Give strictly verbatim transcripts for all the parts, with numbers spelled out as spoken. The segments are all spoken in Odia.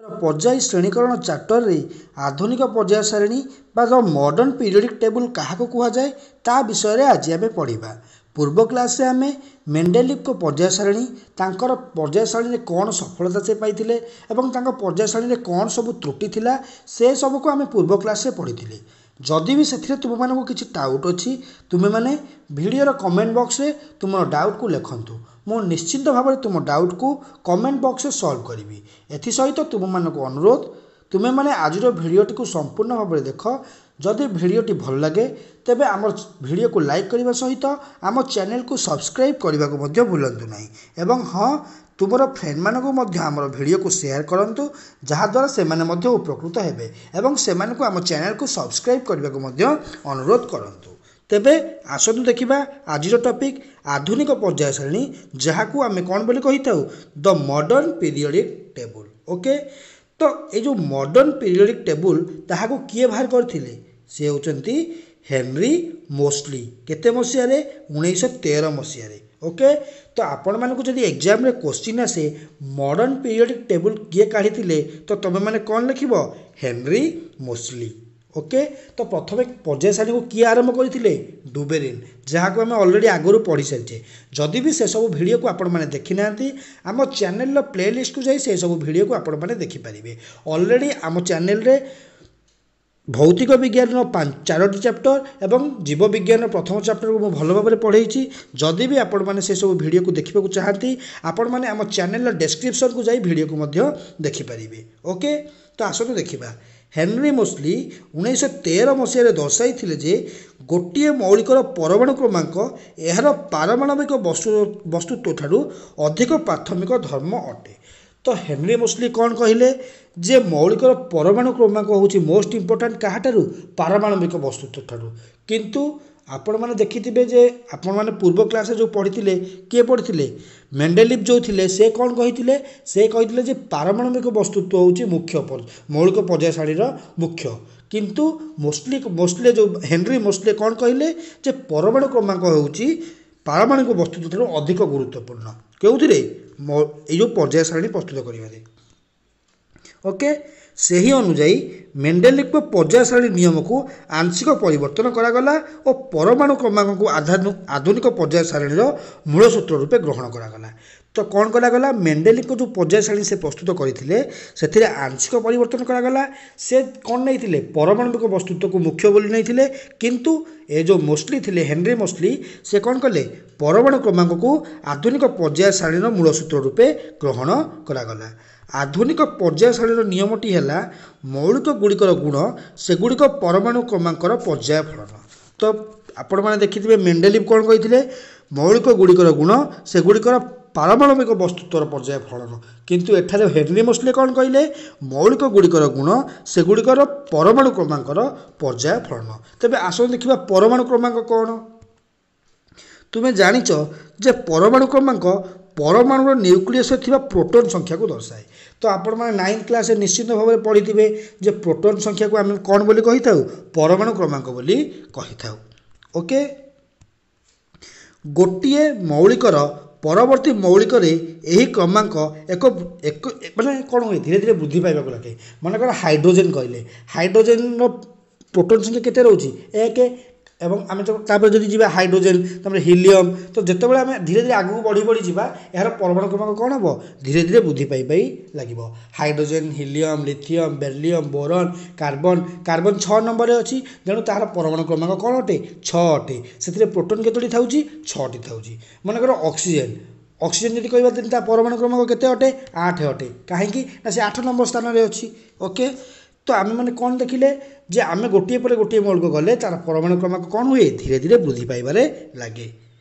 ପର୍ଯ୍ୟାୟୀ ଶ୍ରେଣୀକରଣ ଚାପ୍ଟରରେ ଆଧୁନିକ ପର୍ଯ୍ୟାୟ ସାରଣୀ ବା ଦ ମଡ଼ର୍ଣ୍ଣ ପିରିୟଡ଼ିକ୍ ଟେବୁଲ୍ କାହାକୁ କୁହାଯାଏ ତା ବିଷୟରେ ଆଜି ଆମେ ପଢ଼ିବା। ପୂର୍ବ କ୍ଲାସ୍ରେ ଆମେ ମେଣ୍ଡେଲିଭଙ୍କ ପର୍ଯ୍ୟାୟ ସାରଣୀ, ତାଙ୍କର ପର୍ଯ୍ୟାୟ ସାରଣୀରେ କ'ଣ ସଫଳତା ସେ ପାଇଥିଲେ ଏବଂ ତାଙ୍କ ପର୍ଯ୍ୟାୟ ସାରଣୀରେ କ'ଣ ସବୁ ତ୍ରୁଟି ଥିଲା ସେ ସବୁକୁ ଆମେ ପୂର୍ବ କ୍ଲାସ୍ରେ ପଢ଼ିଥିଲେ। ଯଦି ବି ସେଥିରେ ତୁମମାନଙ୍କୁ କିଛି ଡାଉଟ୍ ଅଛି, ତୁମେମାନେ ଭିଡ଼ିଓର କମେଣ୍ଟ ବକ୍ସରେ ତୁମର ଡାଉଟ୍କୁ ଲେଖନ୍ତୁ। ମୁଁ ନିଶ୍ଚିନ୍ତ ଭାବରେ ତୁମ ଡାଉଟ୍କୁ କମେଣ୍ଟ ବକ୍ସରେ ସଲ୍ଭ କରିବି। ଏଥିସହିତ ତୁମମାନଙ୍କୁ ଅନୁରୋଧ, ତୁମେମାନେ ଆଜିର ଭିଡ଼ିଓଟିକୁ ସମ୍ପୂର୍ଣ୍ଣ ଭାବରେ ଦେଖ। ଯଦି ଭିଡ଼ିଓଟି ଭଲ ଲାଗେ ତେବେ ଆମ ଭିଡ଼ିଓକୁ ଲାଇକ୍ କରିବା ସହିତ ଆମ ଚ୍ୟାନେଲକୁ ସବସ୍କ୍ରାଇବ୍ କରିବାକୁ ମଧ୍ୟ ଭୁଲନ୍ତୁ ନାହିଁ। ଏବଂ ହଁ, ତୁମର ଫ୍ରେଣ୍ଡମାନଙ୍କୁ ମଧ୍ୟ ଆମର ଭିଡ଼ିଓକୁ ସେୟାର କରନ୍ତୁ, ଯାହାଦ୍ୱାରା ସେମାନେ ମଧ୍ୟ ଉପକୃତ ହେବେ ଏବଂ ସେମାନଙ୍କୁ ଆମ ଚ୍ୟାନେଲକୁ ସବସ୍କ୍ରାଇବ୍ କରିବାକୁ ମଧ୍ୟ ଅନୁରୋଧ କରନ୍ତୁ। ତେବେ ଆସନ୍ତୁ ଦେଖିବା ଆଜିର ଟପିକ୍ ଆଧୁନିକ ପର୍ଯ୍ୟାୟ ସାରଣୀ, ଯାହାକୁ ଆମେ କ'ଣ ବୋଲି କହିଥାଉ? The modern periodic table. Okay, ତ ଏଇ ଯେଉଁ ମଡ଼ର୍ଣ୍ଣ ପିରିୟଡ଼ିକ୍ ଟେବୁଲ୍ ତାହାକୁ କିଏ ବାହାର କରିଥିଲେ? ସେ ହେଉଛନ୍ତି ହେନରୀ ମୋସ୍ଲି। କେତେ ମସିହାରେ? ଉଣେଇଶହ ତେର ମସିହାରେ। ଓକେ, ତ ଆପଣମାନଙ୍କୁ ଯଦି ଏକ୍ଜାମ୍ରେ କୋଶ୍ଚିନ୍ ଆସେ ମଡ଼ର୍ଣ୍ଣ ପିରିୟଡ଼ିକ୍ ଟେବୁଲ୍ କିଏ କାଢ଼ିଥିଲେ, ତ ତୁମେମାନେ କ'ଣ ଲେଖିବ? Henry Moseley. Okay, ତ ପ୍ରଥମେ ପର୍ଯ୍ୟାୟ ସାରଣୀକୁ କିଏ ଆରମ୍ଭ କରିଥିଲେ? ଡୁବେରିନ୍, ଯାହାକୁ ଆମେ ଅଲରେଡ଼ି ଆଗରୁ ପଢ଼ି ସାରିଛେ। ଯଦି ବି ସେସବୁ ଭିଡ଼ିଓକୁ ଆପଣମାନେ ଦେଖିନାହାନ୍ତି, ଆମ ଚ୍ୟାନେଲର ପ୍ଲେ ଲିଷ୍ଟକୁ ଯାଇ ସେସବୁ ଭିଡ଼ିଓକୁ ଆପଣମାନେ ଦେଖିପାରିବେ। ଅଲରେଡ଼ି ଆମ ଚ୍ୟାନେଲରେ ଭୌତିକ ବିଜ୍ଞାନର ଚାରୋଟି ଚାପ୍ଟର ଏବଂ ଜୀବ ବିଜ୍ଞାନର ପ୍ରଥମ ଚାପ୍ଟରକୁ ମୁଁ ଭଲ ଭାବରେ ପଢ଼େଇଛି। ଯଦି ବି ଆପଣମାନେ ସେସବୁ ଭିଡ଼ିଓକୁ ଦେଖିବାକୁ ଚାହାନ୍ତି, ଆପଣମାନେ ଆମ ଚ୍ୟାନେଲର ଡେସ୍କ୍ରିପସନ୍କୁ ଯାଇ ଭିଡ଼ିଓକୁ ମଧ୍ୟ ଦେଖିପାରିବେ। ଓକେ, ତ ଆସନ୍ତୁ ଦେଖିବା। ହେନରୀ ମୋସ୍ଲି ଉଣେଇଶହ ତେର ମସିହାରେ ଦର୍ଶାଇଥିଲେ ଯେ ଗୋଟିଏ ମୌଳିକର ପରମାଣୁ କ୍ରମାଙ୍କ ଏହାର ପାରମାଣବିକ ବସ୍ତୁ ବସ୍ତୁତ୍ୱ ଠାରୁ ଅଧିକ ପ୍ରାଥମିକ ଧର୍ମ ଅଟେ। ତ ହେନରୀ ମୋସ୍ଲି କ'ଣ କହିଲେ? ଯେ ମୌଳିକର ପରମାଣୁ କ୍ରମାଙ୍କ ହେଉଛି ମୋଷ୍ଟ ଇମ୍ପୋର୍ଟାଣ୍ଟ କାହାଠାରୁ? ପାରମାଣବିକ ବସ୍ତୁତ୍ୱ ଠାରୁ। କିନ୍ତୁ ଆପଣମାନେ ଦେଖିଥିବେ ଯେ ଆପଣମାନେ ପୂର୍ବ କ୍ଲାସ୍ରେ ଯେଉଁ ପଢ଼ିଥିଲେ, କିଏ ପଢ଼ିଥିଲେ? ମେଣ୍ଡେଲିଭ୍ ଯେଉଁ ଥିଲେ, ସେ କ'ଣ କହିଥିଲେ? ସେ କହିଥିଲେ ଯେ ପାରମାଣବିକ ବସ୍ତୁତ୍ୱ ହେଉଛି ମୁଖ୍ୟ, ମୌଳିକ ପର୍ଯ୍ୟାୟ ସାରଣୀର ମୁଖ୍ୟ। କିନ୍ତୁ ମୋଷ୍ଟଲି ମୋଷ୍ଟଲି ଯେଉଁ ହେନରୀ ମୋଷ୍ଟଲି କ'ଣ କହିଲେ ଯେ ପରମାଣୁ କ୍ରମାଙ୍କ ହେଉଛି ପାରମାଣୁକ ବସ୍ତୁତ୍ୱ ଠାରୁ ଅଧିକ ଗୁରୁତ୍ୱପୂର୍ଣ୍ଣ। କେଉଁଥିରେ? ଏଇ ଯେଉଁ ପର୍ଯ୍ୟାୟ ସାରଣୀ ପ୍ରସ୍ତୁତ କରିବାରେ। ଓକେ, ସେହି ଅନୁଯାୟୀ ମେଣ୍ଡେଲିଭଙ୍କ ପର୍ଯ୍ୟାୟ ସାରଣୀ ନିୟମକୁ ଆଂଶିକ ପରିବର୍ତ୍ତନ କରାଗଲା ଓ ପରମାଣୁ କ୍ରମାଙ୍କକୁ ଆଧୁନିକ ପର୍ଯ୍ୟାୟ ସାରଣୀର ମୂଳ ସୂତ୍ର ରୂପେ ଗ୍ରହଣ କରାଗଲା। ତ କ'ଣ କରାଗଲା? ମେଣ୍ଡେଲିଭଙ୍କ ଯେଉଁ ପର୍ଯ୍ୟାୟ ସାରଣୀ ସେ ପ୍ରସ୍ତୁତ କରିଥିଲେ ସେଥିରେ ଆଂଶିକ ପରିବର୍ତ୍ତନ କରାଗଲା। ସେ କ'ଣ ନେଇଥିଲେ? ପରମାଣୁବିକ ବସ୍ତୁତ୍ୱକୁ ମୁଖ୍ୟ ବୋଲି ନେଇଥିଲେ। କିନ୍ତୁ ଏ ଯେଉଁ ମୋସ୍ଲି ଥିଲେ, ହେନରୀ ମୋସ୍ଲି, ସେ କ'ଣ କଲେ? ପରମାଣୁ କ୍ରମାଙ୍କକୁ ଆଧୁନିକ ପର୍ଯ୍ୟାୟ ସାରଣୀର ମୂଳ ସୂତ୍ର ରୂପେ ଗ୍ରହଣ କରାଗଲା। ଆଧୁନିକ ପର୍ଯ୍ୟାୟ ସାରଣୀର ନିୟମଟି ହେଲା ମୌଳିକ ଗୁଡ଼ିକର ଗୁଣ ସେଗୁଡ଼ିକ ପରମାଣୁ କ୍ରମାଙ୍କର ପର୍ଯ୍ୟାୟ ଫଳନ। ତ ଆପଣମାନେ ଦେଖିଥିବେ ମେଣ୍ଡେଲିଭ୍ କ'ଣ କହିଥିଲେ? ମୌଳିକ ଗୁଡ଼ିକର ଗୁଣ ସେଗୁଡ଼ିକର ପାରମାଣବିକ ବସ୍ତୁତ୍ୱର ପର୍ଯ୍ୟାୟ ଫଳନ। କିନ୍ତୁ ଏଠାରେ ହେନରୀ ମୋସ୍ଲି କ'ଣ କହିଲେ? ମୌଳିକ ଗୁଡ଼ିକର ଗୁଣ ସେଗୁଡ଼ିକର ପରମାଣୁ କ୍ରମାଙ୍କର ପର୍ଯ୍ୟାୟ ଫଳନ। ତେବେ ଆସନ୍ତୁ ଦେଖିବା ପରମାଣୁ କ୍ରମାଙ୍କ କ'ଣ। ତୁମେ ଜାଣିଛ ଯେ ପରମାଣୁ କ୍ରମାଙ୍କ ପରମାଣୁର ନ୍ୟୁକ୍ଲିୟସରେ ଥିବା ପ୍ରୋଟନ୍ ସଂଖ୍ୟାକୁ ଦର୍ଶାଏ। ତ ଆପଣମାନେ ନାଇନ୍ଥ କ୍ଲାସ୍ରେ ନିଶ୍ଚିନ୍ତ ଭାବରେ ପଢ଼ିଥିବେ ଯେ ପ୍ରୋଟନ୍ ସଂଖ୍ୟାକୁ ଆମେ କ'ଣ ବୋଲି କହିଥାଉ? ପରମାଣୁ କ୍ରମାଙ୍କ ବୋଲି କହିଥାଉ। ଓକେ, ଗୋଟିଏ ମୌଳିକର ପରବର୍ତ୍ତୀ ମୌଳିକରେ ଏହି କ୍ରମାଙ୍କ ଏକ ଏକ ମାନେ କ'ଣ ହୁଏ? ଧୀରେ ଧୀରେ ବୃଦ୍ଧି ପାଇବାକୁ ଲାଗେ। ମନେକର ହାଇଡ୍ରୋଜେନ୍ କହିଲେ, ହାଇଡ୍ରୋଜେନ୍ର ପ୍ରୋଟନ୍ ସଂଖ୍ୟା କେତେ ରହୁଛି? ଏକ। ଏବଂ ଆମେ ତାପରେ ଯଦି ଯିବା ହାଇଡ୍ରୋଜେନ୍, ତାପରେ ହିଲିୟମ୍, ତ ଯେତେବେଳେ ଆମେ ଧୀରେ ଧୀରେ ଆଗକୁ ବଢ଼ି ବଢ଼ି ଯିବା ଏହାର ପରମାଣୁ କ୍ରମାଙ୍କ କ'ଣ ହେବ? ଧୀରେ ଧୀରେ ବୃଦ୍ଧି ପାଇ ପାଇ ଲାଗିବ। Hydrogen, helium, lithium, beryllium, boron, carbon. Carbon ଛଅ ନମ୍ବରରେ ଅଛି, ତେଣୁ ତାହାର ପରମାଣୁ କ୍ରମାଙ୍କ କ'ଣ ଅଟେ? ଛଅ ଅଟେ। ସେଥିରେ ପ୍ରୋଟନ୍ କେତୋଟି ଥାଉଛି? ଛଅଟି ଥାଉଛି। ମନେକର ଅକ୍ସିଜେନ୍, ଅକ୍ସିଜେନ୍ ଯଦି କହିବା ତେଣୁ ତା ପରମାଣୁ କ୍ରମାଙ୍କ କେତେ ଅଟେ? ଆଠ ଅଟେ। କାହିଁକି ନା ସେ ଆଠ ନମ୍ବର ସ୍ଥାନରେ ଅଛି। ଓକେ, ତ ଆମେମାନେ କ'ଣ ଦେଖିଲେ ଯେ ଆମେ ଗୋଟିଏ ପରେ ଗୋଟିଏ ମୌଳିକ ଗଲେ ତାର ପରମାଣୁ କ୍ରମାଙ୍କ କ'ଣ ହୁଏ? ଧୀରେ ଧୀରେ ବୃଦ୍ଧି ପାଇବାରେ ଲାଗେ।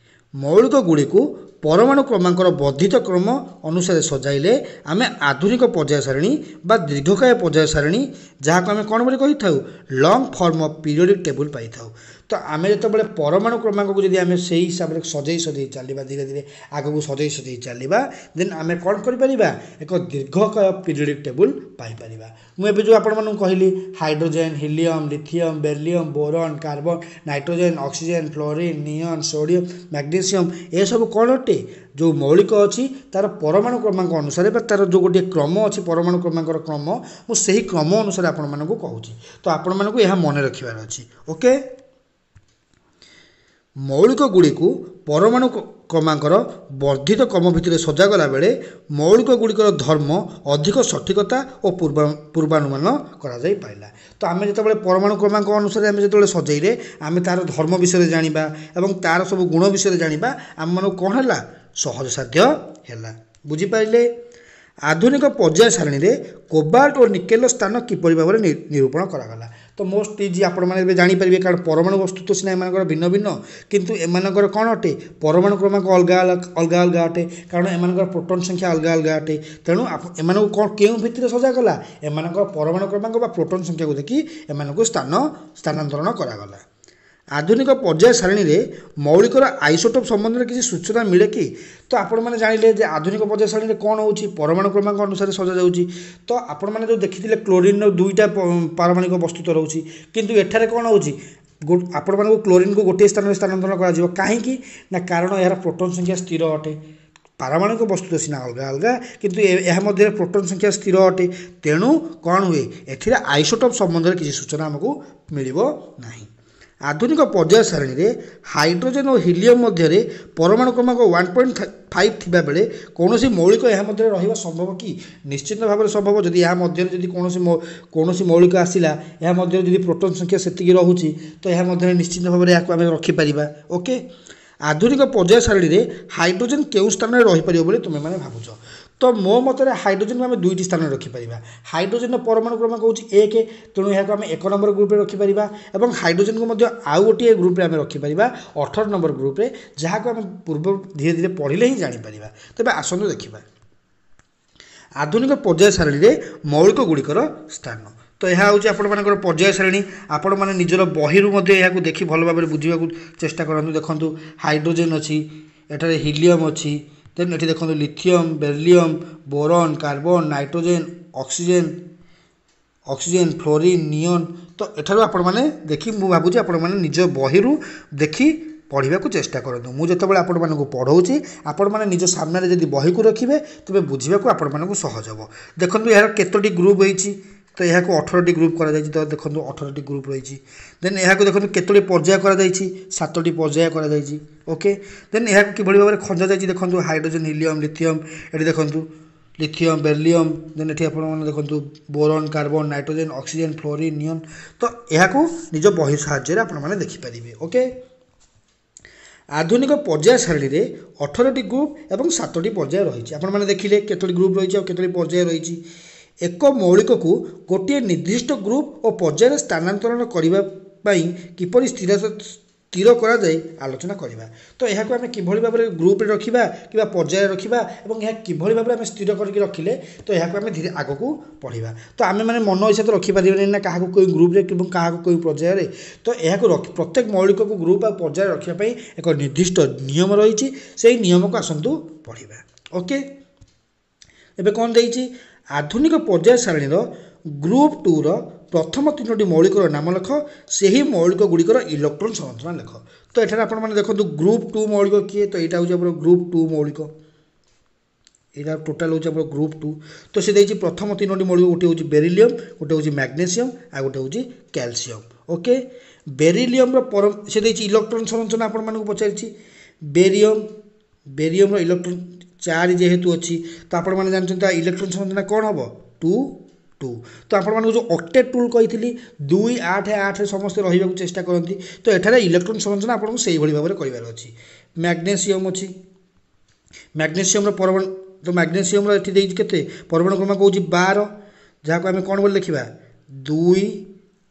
ମୌଳିକ ଗୁଡ଼ିକୁ ପରମାଣୁ କ୍ରମାଙ୍କର ବର୍ଦ୍ଧିତ କ୍ରମ ଅନୁସାରେ ସଜାଇଲେ ଆମେ ଆଧୁନିକ ପର୍ଯ୍ୟାୟ ସାରଣୀ ବା ଦୀର୍ଘକାୟ ପର୍ଯ୍ୟାୟ ସାରଣୀ, ଯାହାକୁ ଆମେ କ'ଣ ବୋଲି କହିଥାଉ? Long form of periodic table ପାଇଥାଉ। ତ ଆମେ ଯେତେବେଳେ ପରମାଣୁ କ୍ରମାଙ୍କକୁ ଯଦି ଆମେ ସେଇ ହିସାବରେ ସଜେଇ ସଜେଇ ଚାଲିବା, ଧୀରେ ଧୀରେ ଆଗକୁ ସଜେଇ ସଜେଇ ଚାଲିବା, ଦେନ୍ ଆମେ କ'ଣ କରିପାରିବା? ଏକ ଦୀର୍ଘକାୟ ପିରିୟଡ଼ିକ୍ ଟେବୁଲ୍ ପାଇପାରିବା। ମୁଁ ଏବେ ଯେଉଁ ଆପଣମାନଙ୍କୁ କହିଲି, hydrogen, helium, lithium, beryllium, boron, carbon, nitrogen, oxygen, fluorine, neon, sodium, magnesium, ଏସବୁ କ'ଣ ଅଟେ? ଯେଉଁ ମୌଳିକ ଅଛି ତା'ର ପରମାଣୁ କ୍ରମାଙ୍କ ଅନୁସାରେ ବା ତା'ର ଯେଉଁ ଗୋଟିଏ କ୍ରମ ଅଛି, ପରମାଣୁ କ୍ରମାଙ୍କର କ୍ରମ, ମୁଁ ସେହି କ୍ରମ ଅନୁସାରେ ଆପଣମାନଙ୍କୁ କହୁଛି। ତ ଆପଣମାନଙ୍କୁ ଏହା ମନେ ରଖିବାର ଅଛି। ଓକେ, ମୌଳିକ ଗୁଡ଼ିକୁ ପରମାଣୁ କ୍ରମାଙ୍କର ବର୍ଦ୍ଧିତ କ୍ରମ ଭିତରେ ସଜାଗଲା ବେଳେ ମୌଳିକ ଗୁଡ଼ିକର ଧର୍ମ ଅଧିକ ସଠିକତା ଓ ପୂର୍ବା ପୂର୍ବାନୁମାନ କରାଯାଇପାରିଲା। ତ ଆମେ ଯେତେବେଳେ ପରମାଣୁ କ୍ରମାଙ୍କ ଅନୁସାରେ ଆମେ ଯେତେବେଳେ ସଜେଇଲେ, ଆମେ ତା'ର ଧର୍ମ ବିଷୟରେ ଜାଣିବା ଏବଂ ତା'ର ସବୁ ଗୁଣ ବିଷୟରେ ଜାଣିବା, ଆମମାନଙ୍କୁ କ'ଣ ହେଲା? ସହଜସାଧ୍ୟ ହେଲା। ବୁଝିପାରିଲେ? ଆଧୁନିକ ପର୍ଯ୍ୟାୟ ସାରଣୀରେ କୋବାଲ୍ଟ ଓ ନିକେଲର ସ୍ଥାନ କିପରି ଭାବରେ ନିରୂପଣ କରାଗଲା? ତ ମୋଷ୍ଟ ଇଜି, ଆପଣମାନେ ଏବେ ଜାଣିପାରିବେ, କାରଣ ପରମାଣୁ ବସ୍ତୁ ତ ସିନା ଏମାନଙ୍କର ଭିନ୍ନ ଭିନ୍ନ, କିନ୍ତୁ ଏମାନଙ୍କର କ'ଣ ଅଟେ? ପରମାଣୁ କ୍ରମାଙ୍କ ଅଲଗା ଅଲଗା ଅଲଗା ଅଟେ, କାରଣ ଏମାନଙ୍କର ପ୍ରୋଟନ୍ ସଂଖ୍ୟା ଅଲଗା ଅଲଗା ଅଟେ। ତେଣୁ ଏମାନଙ୍କୁ କ'ଣ କେଉଁ ଭିତ୍ତିରେ ସଜାଗଲା? ଏମାନଙ୍କର ପରମାଣୁ କ୍ରମାଙ୍କ ବା ପ୍ରୋଟନ୍ ସଂଖ୍ୟାକୁ ଦେଖି ଏମାନଙ୍କୁ ସ୍ଥାନ ସ୍ଥାନାନ୍ତରଣ କରାଗଲା। ଆଧୁନିକ ପର୍ଯ୍ୟାୟ ସାରଣୀରେ ମୌଳିକର ଆଇସୋଟୋପ୍ ସମ୍ବନ୍ଧରେ କିଛି ସୂଚନା ମିଳେ କି? ତ ଆପଣମାନେ ଜାଣିଲେ ଯେ ଆଧୁନିକ ପର୍ଯ୍ୟାୟ ସାରଣୀରେ କ'ଣ ହେଉଛି? ପରମାଣୁ କ୍ରମାଙ୍କ ଅନୁସାରେ ସଜାଯାଉଛି। ତ ଆପଣମାନେ ଯେଉଁ ଦେଖିଥିଲେ କ୍ଲୋରିନ୍ର ଦୁଇଟା ପାରମାଣିକ ବସ୍ତୁତ୍ୱ ରହୁଛି, କିନ୍ତୁ ଏଠାରେ କ'ଣ ହେଉଛି? ଆପଣମାନଙ୍କୁ କ୍ଲୋରିନ୍କୁ ଗୋଟିଏ ସ୍ଥାନରେ ସ୍ଥାନାନ୍ତରଣ କରାଯିବ। କାହିଁକି ନା କାରଣ ଏହାର ପ୍ରୋଟନ୍ ସଂଖ୍ୟା ସ୍ଥିର ଅଟେ। ପାରମାଣିକ ବସ୍ତୁ ସିନା ଅଲଗା ଅଲଗା, କିନ୍ତୁ ଏହା ମଧ୍ୟରେ ପ୍ରୋଟନ୍ ସଂଖ୍ୟା ସ୍ଥିର ଅଟେ। ତେଣୁ କ'ଣ ହୁଏ? ଏଥିରେ ଆଇସୋଟୋପ୍ ସମ୍ବନ୍ଧରେ କିଛି ସୂଚନା ଆମକୁ ମିଳିବ ନାହିଁ। ଆଧୁନିକ ପର୍ଯ୍ୟାୟ ସାରଣୀରେ ହାଇଡ୍ରୋଜେନ୍ ଓ ହିଲିୟମ୍ ମଧ୍ୟରେ ପରମାଣୁ କ୍ରମାଙ୍କ ୱାନ୍ ପଏଣ୍ଟ ଫାଇଭ୍ ଥିବାବେଳେ କୌଣସି ମୌଳିକ ଏହା ମଧ୍ୟରେ ରହିବା ସମ୍ଭବ କି? ନିଶ୍ଚିତ ଭାବରେ ସମ୍ଭବ। ଯଦି ଏହା ମଧ୍ୟରେ ଯଦି କୌଣସି କୌଣସି ମୌଳିକ ଆସିଲା, ଏହା ମଧ୍ୟରେ ଯଦି ପ୍ରୋଟନ୍ ସଂଖ୍ୟା ସେତିକି ରହୁଛି, ତ ଏହା ମଧ୍ୟରେ ନିଶ୍ଚିତ ଭାବରେ ଏହାକୁ ଆମେ ରଖିପାରିବା। ଓକେ, ଆଧୁନିକ ପର୍ଯ୍ୟାୟ ସାରଣୀରେ ହାଇଡ୍ରୋଜେନ୍ କେଉଁ ସ୍ଥାନରେ ରହିପାରିବ ବୋଲି ତୁମେମାନେ ଭାବୁଛ? ତ ମୋ ମତରେ ହାଇଡ୍ରୋଜେନ୍କୁ ଆମେ ଦୁଇଟି ସ୍ଥାନରେ ରଖିପାରିବା। ହାଇଡ୍ରୋଜେନ୍ର ପରମାଣୁ କ୍ରମାଙ୍କ ହେଉଛି ଏକ, ତେଣୁ ଏହାକୁ ଆମେ ଏକ ନମ୍ବର ଗ୍ରୁପ୍ରେ ରଖିପାରିବା, ଏବଂ ହାଇଡ୍ରୋଜେନ୍କୁ ମଧ୍ୟ ଆଉ ଗୋଟିଏ ଗ୍ରୁପ୍ରେ ଆମେ ରଖିପାରିବା, ଅଠର ନମ୍ବର ଗ୍ରୁପ୍ରେ, ଯାହାକୁ ଆମେ ପୂର୍ବ ଧୀରେ ଧୀରେ ପଢ଼ିଲେ ହିଁ ଜାଣିପାରିବା। ତେବେ ଆସନ୍ତୁ ଦେଖିବା ଆଧୁନିକ ପର୍ଯ୍ୟାୟ ସାରଣୀରେ ମୌଳିକ ଗୁଡ଼ିକର ସ୍ଥାନ। ତ ଏହା ହେଉଛି ଆପଣମାନଙ୍କର ପର୍ଯ୍ୟାୟ ସାରଣୀ। ଆପଣମାନେ ନିଜର ବହିରୁ ମଧ୍ୟ ଏହାକୁ ଦେଖି ଭଲ ଭାବରେ ବୁଝିବାକୁ ଚେଷ୍ଟା କରନ୍ତୁ। ଦେଖନ୍ତୁ, ହାଇଡ୍ରୋଜେନ୍ ଅଛି, ଏଠାରେ ହିଲିୟମ୍ ଅଛି, ଦେନ୍ ଏଠି ଦେଖନ୍ତୁ lithium, beryllium, boron, carbon, nitrogen, oxygen oxygen fluorine, neon. ତ ଏଠାରୁ ଆପଣମାନେ ଦେଖି, ମୁଁ ଭାବୁଛି ଆପଣମାନେ ନିଜ ବହିରୁ ଦେଖି ପଢ଼ିବାକୁ ଚେଷ୍ଟା କରନ୍ତୁ। ମୁଁ ଯେତେବେଳେ ଆପଣମାନଙ୍କୁ ପଢ଼ଉଛି, ଆପଣମାନେ ନିଜ ସାମ୍ନାରେ ଯଦି ବହିକୁ ରଖିବେ, ତେବେ ବୁଝିବାକୁ ଆପଣମାନଙ୍କୁ ସହଜ ହେବ। ଦେଖନ୍ତୁ ଏହାର କେତୋଟି ଗ୍ରୁପ୍ ହେଇଛି। ତ ଏହାକୁ ଅଠରଟି ଗ୍ରୁପ୍ କରାଯାଇଛି। ତ ଦେଖନ୍ତୁ ଅଠରଟି ଗ୍ରୁପ୍ ରହିଛି। ଦେନ୍ ଏହାକୁ ଦେଖନ୍ତୁ କେତୋଟି ପର୍ଯ୍ୟାୟ କରାଯାଇଛି? ସାତଟି ପର୍ଯ୍ୟାୟ କରାଯାଇଛି। ଓକେ, ଦେନ୍ ଏହାକୁ କିଭଳି ଭାବରେ ଖଞ୍ଜା ଯାଇଛି ଦେଖନ୍ତୁ, ହାଇଡ୍ରୋଜେନ୍, ହିଲିୟମ୍, ଲିଥିୟମ୍, ଏଠି ଦେଖନ୍ତୁ ଲିଥିୟମ୍, ବେରିଲିୟମ୍, ଦେନ୍ ଏଠି ଆପଣମାନେ ଦେଖନ୍ତୁ boron, carbon, nitrogen, oxygen, fluorine, neon. ତ ଏହାକୁ ନିଜ ବହି ସାହାଯ୍ୟରେ ଆପଣମାନେ ଦେଖିପାରିବେ। ଓକେ, ଆଧୁନିକ ପର୍ଯ୍ୟାୟ ସାରଣୀରେ ଅଠରଟି ଗ୍ରୁପ୍ ଏବଂ ସାତଟି ପର୍ଯ୍ୟାୟ ରହିଛି। ଆପଣମାନେ ଦେଖିଲେ କେତୋଟି ଗ୍ରୁପ୍ ରହିଛି ଆଉ କେତୋଟି ପର୍ଯ୍ୟାୟ ରହିଛି। ଏକ ମୌଳିକକୁ ଗୋଟିଏ ନିର୍ଦ୍ଦିଷ୍ଟ ଗ୍ରୁପ୍ ଓ ପର୍ଯ୍ୟାୟରେ ସ୍ଥାନାନ୍ତରଣ କରିବା ପାଇଁ କିପରି ସ୍ଥିର ସ୍ଥିର କରାଯାଇ ଆଲୋଚନା କରିବା। ତ ଏହାକୁ ଆମେ କିଭଳି ଭାବରେ ଗ୍ରୁପ୍ରେ ରଖିବା କିମ୍ବା ପର୍ଯ୍ୟାୟରେ ରଖିବା ଏବଂ ଏହା କିଭଳି ଭାବରେ ଆମେ ସ୍ଥିର କରିକି ରଖିଲେ, ତ ଏହାକୁ ଆମେ ଧୀରେ ଆଗକୁ ପଢ଼ିବା। ତ ଆମେମାନେ ମନ ଇଚ୍ଛା ତ ରଖିପାରିବାନି ନା, କାହାକୁ କେଉଁ ଗ୍ରୁପ୍ରେ ଏବଂ କାହାକୁ କେଉଁ ପର୍ଯ୍ୟାୟରେ। ତ ଏହାକୁ ରଖି ପ୍ରତ୍ୟେକ ମୌଳିକକୁ ଗ୍ରୁପ୍ ଆଉ ପର୍ଯ୍ୟାୟରେ ରଖିବା ପାଇଁ ଏକ ନିର୍ଦ୍ଦିଷ୍ଟ ନିୟମ ରହିଛି। ସେଇ ନିୟମକୁ ଆସନ୍ତୁ ପଢ଼ିବା। ଓକେ, ଏବେ କ'ଣ ଦେଇଛି? ଆଧୁନିକ ପର୍ଯ୍ୟାୟ ସାରଣୀର ଗ୍ରୁପ୍ ଟୁର ପ୍ରଥମ ତିନୋଟି ମୌଳିକର ନାମ ଲେଖ, ସେହି ମୌଳିକ ଗୁଡ଼ିକର ଇଲେକ୍ଟ୍ରନ୍ ସଂରଚନା ଲେଖ। ତ ଏଠାରେ ଆପଣମାନେ ଦେଖନ୍ତୁ ଗ୍ରୁପ୍ ଟୁ ମୌଳିକ କିଏ? ତ ଏଇଟା ହେଉଛି ଆମର ଗ୍ରୁପ୍ ଟୁ ମୌଳିକ। ଏଇଟା ଟୋଟାଲ୍ ହେଉଛି ଆମର ଗ୍ରୁପ୍ ଟୁ। ତ ସେ ଦେଇଛି ପ୍ରଥମ ତିନୋଟି ମୌଳିକ, ଗୋଟିଏ ହେଉଛି ବେରିଲିୟମ୍, ଗୋଟେ ହେଉଛି ମ୍ୟାଗ୍ନେସିୟମ୍, ଆଉ ଗୋଟେ ହେଉଛି କ୍ୟାଲସିୟମ୍। ଓକେ, ବେରିଲିୟମ୍ର ପର ସେ ଦେଇଛି ଇଲେକ୍ଟ୍ରନ୍ ସଂରଚନା ଆପଣମାନଙ୍କୁ ପଚାରିଛି। ବେରିୟମ୍ ବେରିୟମ୍ର ଇଲେକ୍ଟ୍ରନ୍ ଚାରି ଯେହେତୁ ଅଛି, ତ ଆପଣମାନେ ଜାଣିଛନ୍ତି ତା ଇଲେକ୍ଟ୍ରନ୍ ସଂରଚନା କ'ଣ ହେବ? Two two. ତ ଆପଣମାନଙ୍କୁ ଯେଉଁ ଅକ୍ଟେଟ୍ ଟୁଲ୍ କହିଥିଲି, ଦୁଇ ଆଠ ଆଠ ସମସ୍ତେ ରହିବାକୁ ଚେଷ୍ଟା କରନ୍ତି। ତ ଏଠାରେ ଇଲେକ୍ଟ୍ରନ୍ ସଂରଚନା ଆପଣଙ୍କୁ ସେଇଭଳି ଭାବରେ କରିବାର ଅଛି। ମ୍ୟାଗ୍ନେସିୟମ୍ ଅଛି, ମ୍ୟାଗ୍ନେସିୟମ୍ର ପରମାଣୁ, ତ ମ୍ୟାଗ୍ନେସିୟମ୍ର ଏଠି ଦେଇଛି କେତେ? ପରମାଣୁ କ୍ରମାଙ୍କ ହେଉଛି ବାର, ଯାହାକୁ ଆମେ କ'ଣ ବୋଲି ଲେଖିବା? ଦୁଇ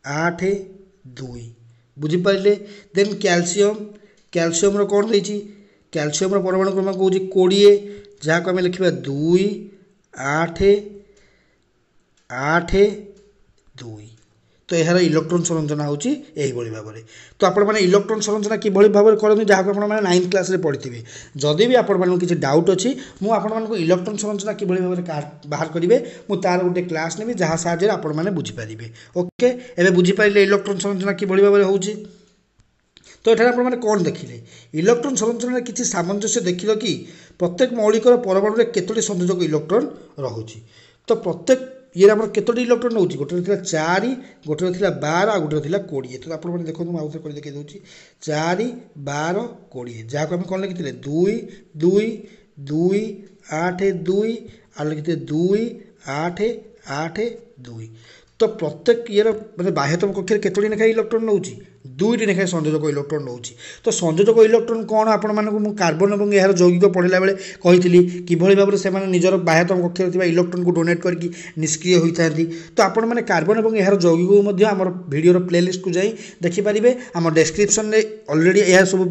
ଆଠ ଦୁଇ। ବୁଝିପାରିଲେ? ଦେନ୍ କ୍ୟାଲସିୟମ୍, କ୍ୟାଲସିୟମ୍ର କ'ଣ ଦେଇଛି? କ୍ୟାଲସିୟମ୍ର ପରମାଣୁ କ୍ରମାଙ୍କ ହେଉଛି କୋଡ଼ିଏ, ଯାହାକୁ ଆମେ ଲେଖିବା ଦୁଇ ଆଠ ଆଠ ଦୁଇ। ତ ଏହାର ଇଲେକ୍ଟ୍ରନ୍ ସଂରଚନା ହେଉଛି ଏହିଭଳି ଭାବରେ। ତ ଆପଣମାନେ ଇଲେକ୍ଟ୍ରନ୍ ସଂରଚନା କିଭଳି ଭାବରେ କରନ୍ତି, ଯାହାକୁ ଆପଣମାନେ ନାଇନ୍ଥ କ୍ଲାସ୍ରେ ପଢ଼ିଥିବେ। ଯଦି ବି ଆପଣମାନଙ୍କୁ କିଛି ଡାଉଟ୍ ଅଛି, ମୁଁ ଆପଣମାନଙ୍କୁ ଇଲେକ୍ଟ୍ରନ୍ ସଂରଚନା କିଭଳି ଭାବରେ ବାହାର କରିବେ, ମୁଁ ତା'ର ଗୋଟେ କ୍ଲାସ୍ ନେବି, ଯାହା ସାହାଯ୍ୟରେ ଆପଣମାନେ ବୁଝିପାରିବେ। ଓକେ, ଏବେ ବୁଝିପାରିଲେ ଇଲେକ୍ଟ୍ରନ୍ ସଂରଚନା କିଭଳି ଭାବରେ ହେଉଛି? ତ ଏଠାରେ ଆପଣମାନେ କ'ଣ ଦେଖିଲେ? ଇଲେକ୍ଟ୍ରନ୍ ସଂରଚନାରେ କିଛି ସାମଞ୍ଜସ୍ୟ ଦେଖିଲ କି? ପ୍ରତ୍ୟେକ ମୌଳିକର ପରମାଣୁରେ କେତୋଟି ସଂଯୋଜକ ଇଲେକ୍ଟ୍ରନ୍ ରହୁଛି? ତ ପ୍ରତ୍ୟେକ ଇଏରେ ଆମର କେତୋଟି ଇଲେକ୍ଟ୍ରନ୍ ରହୁଛି? ଗୋଟେରେ ଥିଲା ଚାରି, ଗୋଟେରେ ଥିଲା ବାର, ଆଉ ଗୋଟେରେ ଥିଲା କୋଡ଼ିଏ। ତ ଆପଣମାନେ ଦେଖନ୍ତୁ, ମୁଁ ଆଉଥରେ କରି ଦେଖାଇ ଦେଉଛି। ଚାରି, ବାର, କୋଡ଼ିଏ, ଯାହାକୁ ଆମେ କ'ଣ ଲେଖିଥିଲେ? ଦୁଇ ଦୁଇ ଦୁଇ ଆଠ ଦୁଇ, ଆଉ ଲେଖିଥିଲେ ଦୁଇ ଆଠ ଆଠ ଦୁଇ। ତ ପ୍ରତ୍ୟେକ ଇଏର ମାନେ ବାହ୍ୟତମ କକ୍ଷରେ କେତୋଟି ଲେଖାଏଁ ଇଲେକ୍ଟ୍ରନ୍ ନେଉଛି? ଦୁଇଟି ଲେଖାଏଁ ସଂଯୋଜକ ଇଲେକ୍ଟ୍ରନ୍ ନେଉଛି। ତ ସଂଯୋଜକ ଇଲେକ୍ଟ୍ରନ୍ କ'ଣ, ଆପଣମାନଙ୍କୁ ମୁଁ କାର୍ବନ ଏବଂ ଏହାର ଯୌଗିକ ପଢ଼ିଲା ବେଳେ କହିଥିଲି କିଭଳି ଭାବରେ ସେମାନେ ନିଜର ବାହ୍ୟତମ କକ୍ଷରେ ଥିବା ଇଲେକ୍ଟ୍ରନ୍କୁ ଡୋନେଟ୍ କରିକି ନିଷ୍କ୍ରିୟ ହୋଇଥାନ୍ତି। ତ ଆପଣମାନେ କାର୍ବନ ଏବଂ ଏହାର ଯୌଗିକକୁ ମଧ୍ୟ ଆମର ଭିଡ଼ିଓର ପ୍ଲେଲିଷ୍ଟକୁ ଯାଇ ଦେଖିପାରିବେ। ଆମ ଡେସ୍କ୍ରିପସନ୍ରେ ଅଲରେଡ଼ି ଏହା ସବୁ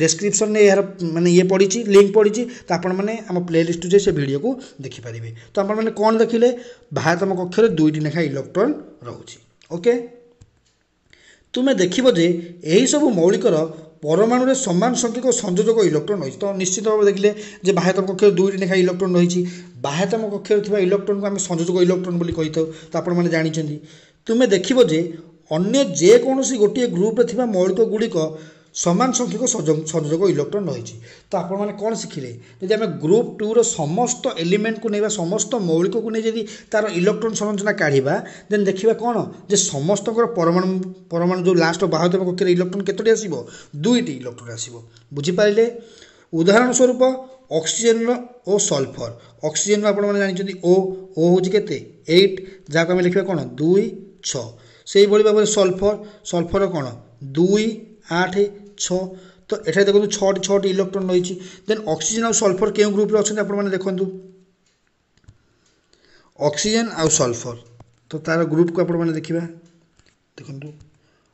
ଡେସ୍କ୍ରିପସନ୍ରେ ଏହାର ମାନେ ଇଏ ପଡ଼ିଛି, ଲିଙ୍କ୍ ପଡ଼ିଛି। ତ ଆପଣମାନେ ଆମ ପ୍ଲେଲିଷ୍ଟକୁ ଯାଇ ସେ ଭିଡ଼ିଓକୁ ଦେଖିପାରିବେ। ତ ଆପଣମାନେ କ'ଣ ଦେଖିଲେ? ବାହ୍ୟତମ କକ୍ଷରେ ଦୁଇଟି ଲେଖାଏଁ ଇଲେକ୍ଟ୍ରନ୍ ରହୁଛି। ଓକେ, ତୁମେ ଦେଖିବ ଯେ ଏହିସବୁ ମୌଳିକର ପରମାଣୁରେ ସମାନ ସଂଖ୍ୟକ ସଂଯୋଜକ ଇଲେକ୍ଟ୍ରନ୍ ରହିଛି। ତ ନିଶ୍ଚିତ ଭାବେ ଦେଖିଲେ ଯେ ବାହ୍ୟତମ କକ୍ଷରେ ଦୁଇଟି ଲେଖାଏଁ ଇଲେକ୍ଟ୍ରନ୍ ରହିଛି। ବାହ୍ୟତମ କକ୍ଷରେ ଥିବା ଇଲେକ୍ଟ୍ରନ୍କୁ ଆମେ ସଂଯୋଜକ ଇଲେକ୍ଟ୍ରନ୍ ବୋଲି କହିଥାଉ, ତ ଆପଣମାନେ ଜାଣିଛନ୍ତି। ତୁମେ ଦେଖିବ ଯେ ଅନ୍ୟ ଯେକୌଣସି ଗୋଟିଏ ଗ୍ରୁପରେ ଥିବା ମୌଳିକ ଗୁଡ଼ିକ ସମାନ ସଂଖ୍ୟକ ସଂଯୋଜକ ଇଲେକ୍ଟ୍ରନ୍ ରହିଛି। ତ ଆପଣମାନେ କ'ଣ ଶିଖିଲେ? ଯଦି ଆମେ ଗ୍ରୁପ୍ ଟୁର ସମସ୍ତ ଏଲିମେଣ୍ଟକୁ ନେଇବା, ସମସ୍ତ ମୌଳିକକୁ ନେଇ ଯଦି ତା'ର ଇଲେକ୍ଟ୍ରନ୍ ସଂରଚନା କାଢ଼ିବା, ଦେନ୍ ଦେଖିବା କ'ଣ ଯେ ସମସ୍ତଙ୍କର ପରମାଣୁ ପରମାଣୁ ଯେଉଁ ଲାଷ୍ଟ ବାହ୍ୟତମ କକ୍ଷରେ ଇଲେକ୍ଟ୍ରନ୍ କେତୋଟି ଆସିବ? ଦୁଇଟି ଇଲେକ୍ଟ୍ରନ୍ ଆସିବ। ବୁଝିପାରିଲେ? ଉଦାହରଣ ସ୍ୱରୂପ ଅକ୍ସିଜେନ୍ର ଓ ସଲଫର। ଅକ୍ସିଜେନ୍ର ଆପଣମାନେ ଜାଣିଛନ୍ତି ଓ ଓ ହେଉଛି କେତେ? ଏଇଟ୍, ଯାହାକୁ ଆମେ ଲେଖିବା କ'ଣ? ଦୁଇ ଛଅ। ସେଇଭଳି ଭାବରେ ସଲଫର, ସଲଫର କ'ଣ? ଦୁଇ ଆଠ ଛଅ। ତ ଏଠାରେ ଦେଖନ୍ତୁ ଛଅଟି ଛଅଟି ଇଲେକ୍ଟ୍ରନ୍ ରହିଛି। ଦେନ୍ ଅକ୍ସିଜେନ୍ ଆଉ ସଲଫର କେଉଁ ଗ୍ରୁପ୍ରେ ଅଛନ୍ତି ଆପଣମାନେ ଦେଖନ୍ତୁ। ଅକ୍ସିଜେନ୍ ଆଉ ସଲଫର, ତ ତା'ର ଗ୍ରୁପ୍କୁ ଆପଣମାନେ ଦେଖିବା। ଦେଖନ୍ତୁ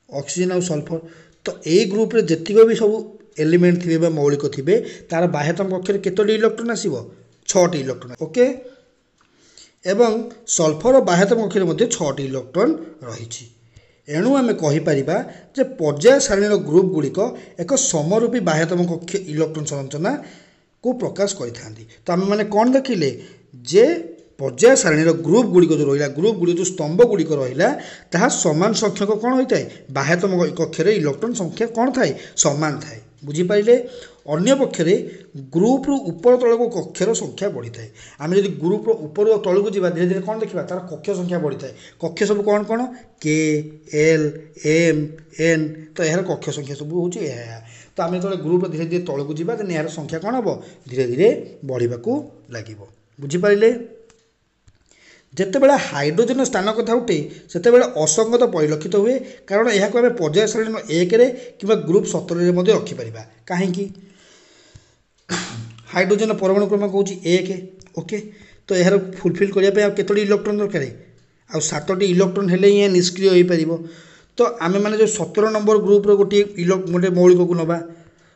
ଅକ୍ସିଜେନ୍ ଆଉ ସଲଫର, ତ ଏଇ ଗ୍ରୁପ୍ରେ ଯେତିକ ବି ସବୁ ଏଲିମେଣ୍ଟ ଥିବେ ବା ମୌଳିକ ଥିବେ, ତା'ର ବାହ୍ୟତମ କକ୍ଷରେ କେତୋଟି ଇଲେକ୍ଟ୍ରନ୍ ଆସିବ? ଛଅଟି ଇଲେକ୍ଟ୍ରନ୍। ଓକେ, ଏବଂ ସଲଫର ବାହ୍ୟତମ କକ୍ଷରେ ମଧ୍ୟ ଛଅଟି ଇଲେକ୍ଟ୍ରନ୍ ରହିଛି। ଏଣୁ ଆମେ କହିପାରିବା ଯେ ପର୍ଯ୍ୟାୟ ସାରଣୀର ଗ୍ରୁପ୍ ଗୁଡ଼ିକ ଏକ ସମରୂପୀ ବାହ୍ୟତମ କକ୍ଷ ଇଲେକ୍ଟ୍ରନ୍ ସଂରଚନାକୁ ପ୍ରକାଶ କରିଥାନ୍ତି। ତ ଆମେମାନେ କ'ଣ ଦେଖିଲେ ଯେ ପର୍ଯ୍ୟାୟ ସାରଣୀର ଗ୍ରୁପ୍ ଗୁଡ଼ିକ ଯେଉଁ ରହିଲା, ଗ୍ରୁପ୍ ଗୁଡ଼ିକ ଯେଉଁ ସ୍ତମ୍ଭ ଗୁଡ଼ିକ ରହିଲା, ତାହା ସମାନ ସଂଖ୍ୟକ କ'ଣ ହୋଇଥାଏ? ବାହ୍ୟତମ କକ୍ଷରେ ଇଲେକ୍ଟ୍ରନ୍ ସଂଖ୍ୟା କ'ଣ ଥାଏ? ସମାନ ଥାଏ। ବୁଝିପାରିଲେ? ଅନ୍ୟ ପକ୍ଷରେ ଗ୍ରୁପ୍ରୁ ଉପର ତଳକୁ କକ୍ଷର ସଂଖ୍ୟା ବଢ଼ିଥାଏ। ଆମେ ଯଦି ଗ୍ରୁପ୍ର ଉପରୁ ତଳକୁ ଯିବା, ଧୀରେ ଧୀରେ କ'ଣ ଦେଖିବା? ତା'ର କକ୍ଷ ସଂଖ୍ୟା ବଢ଼ିଥାଏ। କକ୍ଷ ସବୁ କ'ଣ କ'ଣ? କେ, ଏଲ୍, ଏମ୍, ଏନ୍। ତ ଏହାର କକ୍ଷ ସଂଖ୍ୟା ସବୁ ହେଉଛି ଏହା ଏହା। ତ ଆମେ ଯେତେବେଳେ ଗ୍ରୁପ୍ର ଧୀରେ ଧୀରେ ତଳକୁ ଯିବା, ଦେନ୍ ଏହାର ସଂଖ୍ୟା କ'ଣ ହେବ? ଧୀରେ ଧୀରେ ବଢ଼ିବାକୁ ଲାଗିବ। ବୁଝିପାରିଲେ? ଯେତେବେଳେ ହାଇଡ୍ରୋଜେନ୍ର ସ୍ଥାନ କଥା ଉଠେ, ସେତେବେଳେ ଅସଙ୍ଗତ ପରିଲକ୍ଷିତ ହୁଏ, କାରଣ ଏହାକୁ ଆମେ ପର୍ଯ୍ୟାୟ ସାରଣୀ ଏକରେ କିମ୍ବା ଗ୍ରୁପ୍ ସତରରେ ମଧ୍ୟ ରଖିପାରିବା। କାହିଁକି? ହାଇଡ୍ରୋଜେନ୍ର ପରମାଣୁ କ୍ରମାଙ୍କ ହେଉଛି ଏକ। ଓକେ, ତ ଏହାର ଫୁଲଫିଲ୍ କରିବା ପାଇଁ ଆଉ କେତୋଟି ଇଲେକ୍ଟ୍ରନ୍ ଦରକାର? ଆଉ ସାତଟି ଇଲେକ୍ଟ୍ରନ୍ ହେଲେ ହିଁ ଏହା ନିଷ୍କ୍ରିୟ ହୋଇପାରିବ। ତ ଆମେମାନେ ଯେଉଁ ସତର ନମ୍ବର ଗ୍ରୁପ୍ର ଗୋଟିଏ ଇଲେ ଗୋଟେ ମୌଳିକକୁ ନେବା,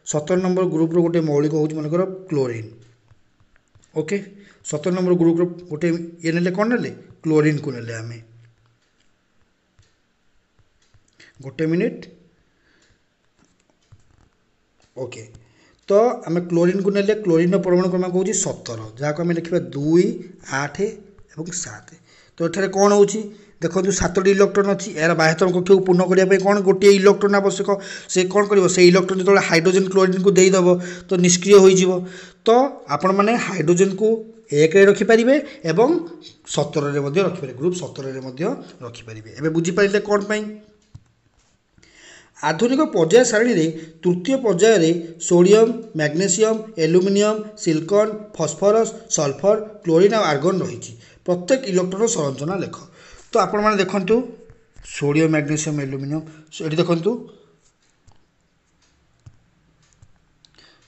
ସତର ନମ୍ବର ଗ୍ରୁପ୍ର ଗୋଟିଏ ମୌଳିକ ହେଉଛି ମନେକର କ୍ଲୋରିନ୍। ଓକେ, ସତର ନମ୍ବର ଗ୍ରୁପ୍ର ଗୋଟେ ଇଏ ନେଲେ, କ'ଣ ନେଲେ? କ୍ଲୋରିନ୍କୁ ନେଲେ ଆମେ। ଗୋଟେ ମିନିଟ୍। ଓକେ, ତ ଆମେ କ୍ଲୋରିନ୍କୁ ନେଲେ, କ୍ଲୋରିନ୍ର ପରମାଣୁ କ୍ରମାଙ୍କ ହେଉଛି ସତର, ଯାହାକୁ ଆମେ ଲେଖିବା ଦୁଇ ଆଠ ଏବଂ ସାତ। ତ ଏଠାରେ କ'ଣ ହେଉଛି ଦେଖନ୍ତୁ, ସାତଟି ଇଲେକ୍ଟ୍ରନ୍ ଅଛି। ଏହାର ବାହ୍ୟତମ କକ୍ଷକୁ ପୂର୍ଣ୍ଣ କରିବା ପାଇଁ କ'ଣ ଗୋଟିଏ ଇଲେକ୍ଟ୍ରନ୍ ଆବଶ୍ୟକ। ସେ କ'ଣ କରିବ? ସେ ଇଲେକ୍ଟ୍ରନ୍ ଯେତେବେଳେ ହାଇଡ୍ରୋଜେନ୍ କ୍ଲୋରିନ୍କୁ ଦେଇଦେବ, ତ ନିଷ୍କ୍ରିୟ ହୋଇଯିବ। ତ ଆପଣମାନେ ହାଇଡ୍ରୋଜେନ୍କୁ ଏକରେ ରଖିପାରିବେ ଏବଂ ସତରରେ ମଧ୍ୟ ରଖିପାରିବେ, ଗ୍ରୁପ୍ ସତରରେ ମଧ୍ୟ ରଖିପାରିବେ। ଏବେ ବୁଝିପାରିଲେ କ'ଣ ପାଇଁ? ଆଧୁନିକ ପର୍ଯ୍ୟାୟ ସାରଣୀରେ ତୃତୀୟ ପର୍ଯ୍ୟାୟରେ sodium, magnesium, aluminium, silicon, phosphorus, sulphur, chlorine ଆଉ ଆର୍ଗନ୍ ରହିଛି। ପ୍ରତ୍ୟେକ ଇଲେକ୍ଟ୍ରନ୍ର ସଂରଚନା ଲେଖ। ତ ଆପଣମାନେ ଦେଖନ୍ତୁ ସୋଡ଼ିୟମ୍, ମ୍ୟାଗ୍ନେସିୟମ୍, ଆଲୁମିନିୟମ୍, ଏଠି ଦେଖନ୍ତୁ